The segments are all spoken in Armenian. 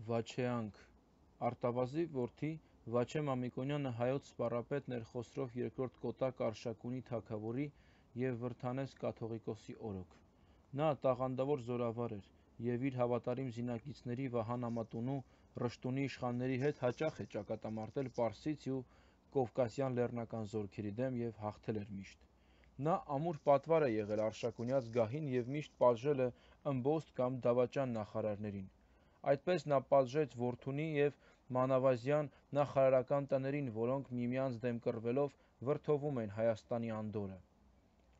Վաչեանք Արտավազի որդի Վաչե Մամիկոնյանը հայոց սպառապետն էր Խոսրով II Կոտակ Արշակունի թագավորի և Վրթանես կաթողիկոսի օրոք։ Նա տաղանդավոր զորավար էր և իր հավատարիմ զինակիցների Վահան Ամատունու Ռշտունի իշխանների հետ հաճախ է ճակատամարտել Պարսից ու Կովկասյան լեռնական զորքերի դեմ և հաղթել էր միշտ։ Նա ամուր պատվար է եղել Արշակունյաց գահին և միշտ պատժել է ըմբոստ կամ դավաճան նախարարներին։ Այդպես նա պատժեց Որդունի և Մանավազյան նախարարական տներին, որոնք միմյանց դեմ կռվելով վրդովում էին Հայաստանի անդորրը։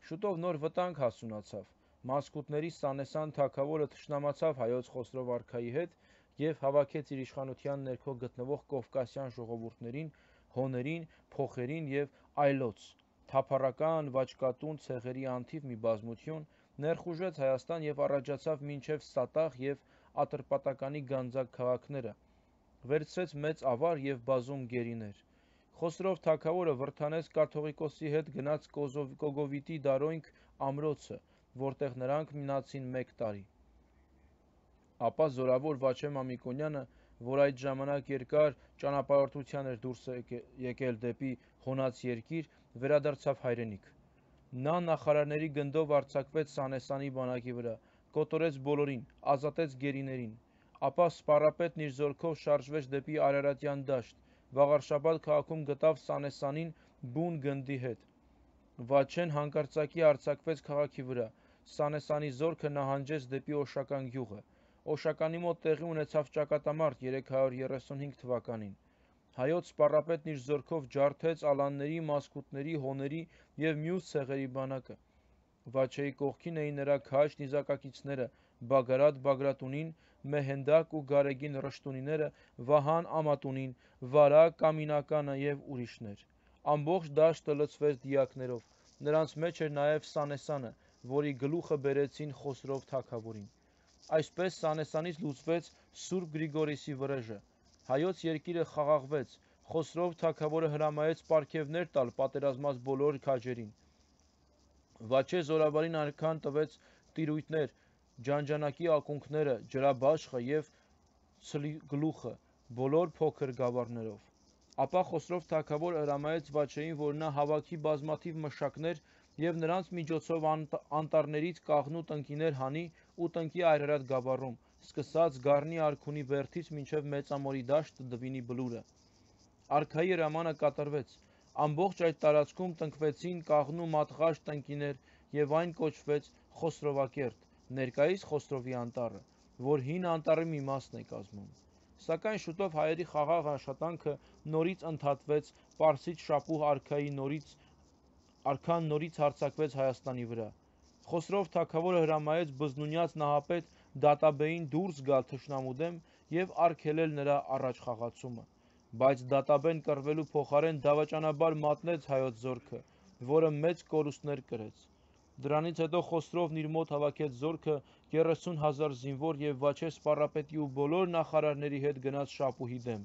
Շուտով նոր վտանգ հասունացավ։ Մասկուտների Սանեսան թագավորը թշնամացավ հայոց Խոսրով արքայի հետ և հավաքեց իր իշխանության ներքո գտնվող կովկասյան ժողովուրդներին, հոներին, փոխերին և այլոց, թափառական, վաճկատուն ցեղերի անթիվ մի բազմություն, ներխուժեց Հայաստան և առաջացավ մինչև Սատաղ և Ատրպատականի գանձակ քաղաքները, վերցրեց մեծ ավար և բազում գերիներ։ Խոսրով թագավորը Վրթանես կաթողիկոսի հետ գնաց Կոգովիտի Դարոյնք ամրոցը, որտեղ նրանք մնացին 1 տարի։ Ապա զորավոր Վաչե Մամիկոնյանը, որ այդ ժամանակ երկար ճանապարհորդության էր դուրս եկել դեպի Հոնաց երկիր, վերադարձավ հայրենիք։ Նա նախարարների գնդով արձակվեց Սանեսանի բանակի վրա, կոտորեց բոլորին, ազատեց գերիներին։ Ապա սպառապետն իր զորքով շարժվեց դեպի Արարատյան դաշտ, Վաղարշաբադ քաղաքում գտավ Սանեսանին բուն գնդի հետ։ Վաչեն հանկարծակի արձակվեց քաղաքի վրա։ Սանեսանի զորքը նահանջեց դեպի Օշական գյուղը։ Օշականի մոտ տեղի ունեցավ ճակատամարտ 335 թվականին։ Հայոց սպառապետն իր զորքով ջարդեց ալանների, մասկուտների, հոների և մյուս ցեղերի բանակը։ Վաչեի կողքին էին նրա քաջ նիզակակիցները Բագարատ Բագրատունին, Մեհենդակ ու Գարեգին Ռշտունիները, Վահան Ամատունին, Վարա Կամինականը և ուրիշներ։ Ամբողջ դաշտը լցվեց դիակներով։ Նրանց մեջ էր նաև Սանեսանը, որի գլուխը բերեցին Խոսրով թագավորին։ Այսպես Սանեսանից լուծվեց Սուրբ Գրիգորիսի վրեժը։ Հայոց երկիրը խաղաղվեց։ Խոսրով թագավորը հրամայեց պարգևներ տալ պատերազմած բոլոր քաջերին։ Վաչե զորավարին այնքան տվեց տիրույթներ, ջանջանակի ակունքները, ջրաբաշխը և ցլգլուխը, բոլոր փոքր գավառներով։ Ապա Խոսրով թագավորը հրամայեց Վաչեին, որ նա հավաքի բազմաթիվ մշակներ և նրանց միջոցով անտառներից կաղնու տնկիներ հանի ու տնկի Այրարատ գավառում, սկսած Գառնի արքունի բերդից մինչև Մեծամորի դաշտ Դվինի բլուրը։ Արքայի հրամանը կատարվեց։ Ամբողջ այդ տարածքում տնկվեցին կաղնու մատղաշ տնկիներ և այն կոչվեց Խոսրովակերտ, ներկայիս Խոսրովի անտառը, որ հին անտառի մի մասն է կազմում։ Սակայն շուտով հայերի խաղաղ աշխատանքը նորից ընդհատվեց Պարսից շապուհ արքան նորից հարձակվեց Հայաստանի վրա։ Խոսրով թագավորը հրամայեց բզնունյաց նահապետ Դատաբեին դուրս գալ թշնամու դեմ և արգելել նրա առաջխաղացումը։ Բայց Դատաբեն կռվելու փոխարեն դավաճանաբար մատնեց հայոց զորքը, որը մեծ կորուստներ կրեց։ Դրանից հետո Խոսրովն իր մոտ հավաքեց զորքը 30,000 զինվոր և Վաչե սպառապետի ու բոլոր նախարարների հետ գնաց շապուհի դեմ։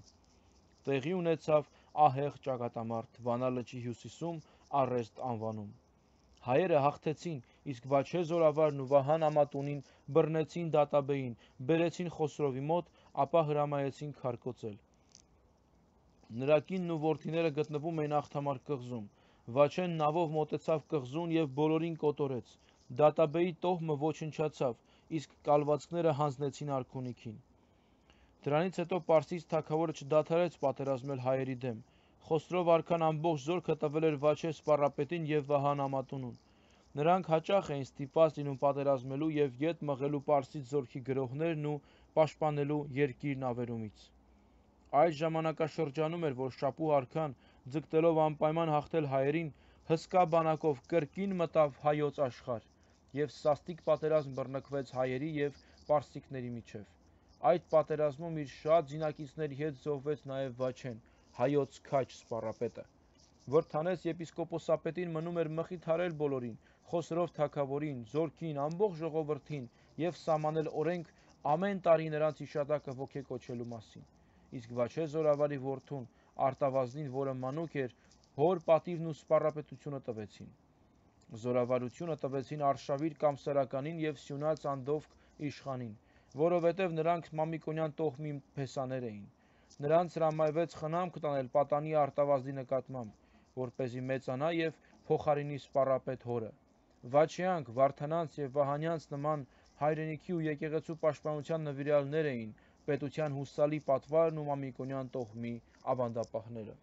Տեղի ունեցավ ահեղ ճակատամարտ Վանա լճի հյուսիսում Առեստ անվանում։ Հայերը հաղթեցին, իսկ Վաչե զորավարն ու Վահան Ամատունին բռնեցին Դատաբեին, բերեցին Խոսրովի մոտ, ապա հրամայեցին քարկոծել։ Նրա կինն ու որդիները գտնվում էին Աղթամար կղզում։ Վաչեն նավով մոտեցավ կղզուն և բոլորին կոտորեց։ Դատաբեի տոհմը ոչնչացավ, իսկ կալվածքները հանձնեցին արքունիքին։ Դրանից հետո Պարսից թագավորը չդադարեց պատերազմել հայերի դեմ։ Խոսրով արքան ամբողջ զորքը տվել էր Վաչե սպառապետին և Վահան Ամատունուն։ Նրանք հաճախ էին ստիպված լինում պատերազմելու և ետ մղելու Պարսից զորքի գրոհներն ու պաշտպանելու երկիրն ավերումից։ Այդ ժամանակաշրջանում էր, որ շապուհ արքան, ձգտելով անպայման հաղթել հայերին, հսկա բանակով կրկին մտավ հայոց աշխարհ և սաստիկ պատերազմ բռնկվեց հայերի և պարսիկների միջև։ Այդ պատերազմում իր շատ զինակիցների հետ զոհվեց նաև Վաչեն, հայոց քաջ սպառապետը։ Վրթանես եպիսկոպոսապետին մնում էր մխիթարել բոլորին, Խոսրով թագավորին, զորքին, ամբողջ ժողովրդին և սահմանել օրենք ամեն տարի նրանց հիշատակը ոգեկոչելու մասին։ Իսկ Վաչե զորավարի որդուն Արտավազդին, որը մանուկ էր, հոր պատիվն ու սպառապետությունը տվեցին։ Զորավարությունը տվեցին Արշավիր Կամսարականին և Սյունյաց Անդովկ իշխանին։ որովհետև նրանք Մամիկոնյան տոհմի փեսաներ էին։ Նրանց հրամայվեց խնամք տանել պատանի արտավազդի նկատմամբ, որպեսզի մեծանա և փոխարինի սպառապետ հորը։ Վաչյանք, Վարդանանց և Վահանյանց նման հայրենիքի ու եկեղեցու պաշտպանության նվիրյալներ էին պետության հուսալի պատվարն ու Մամիկոնյան տոհմի ավանդապահները։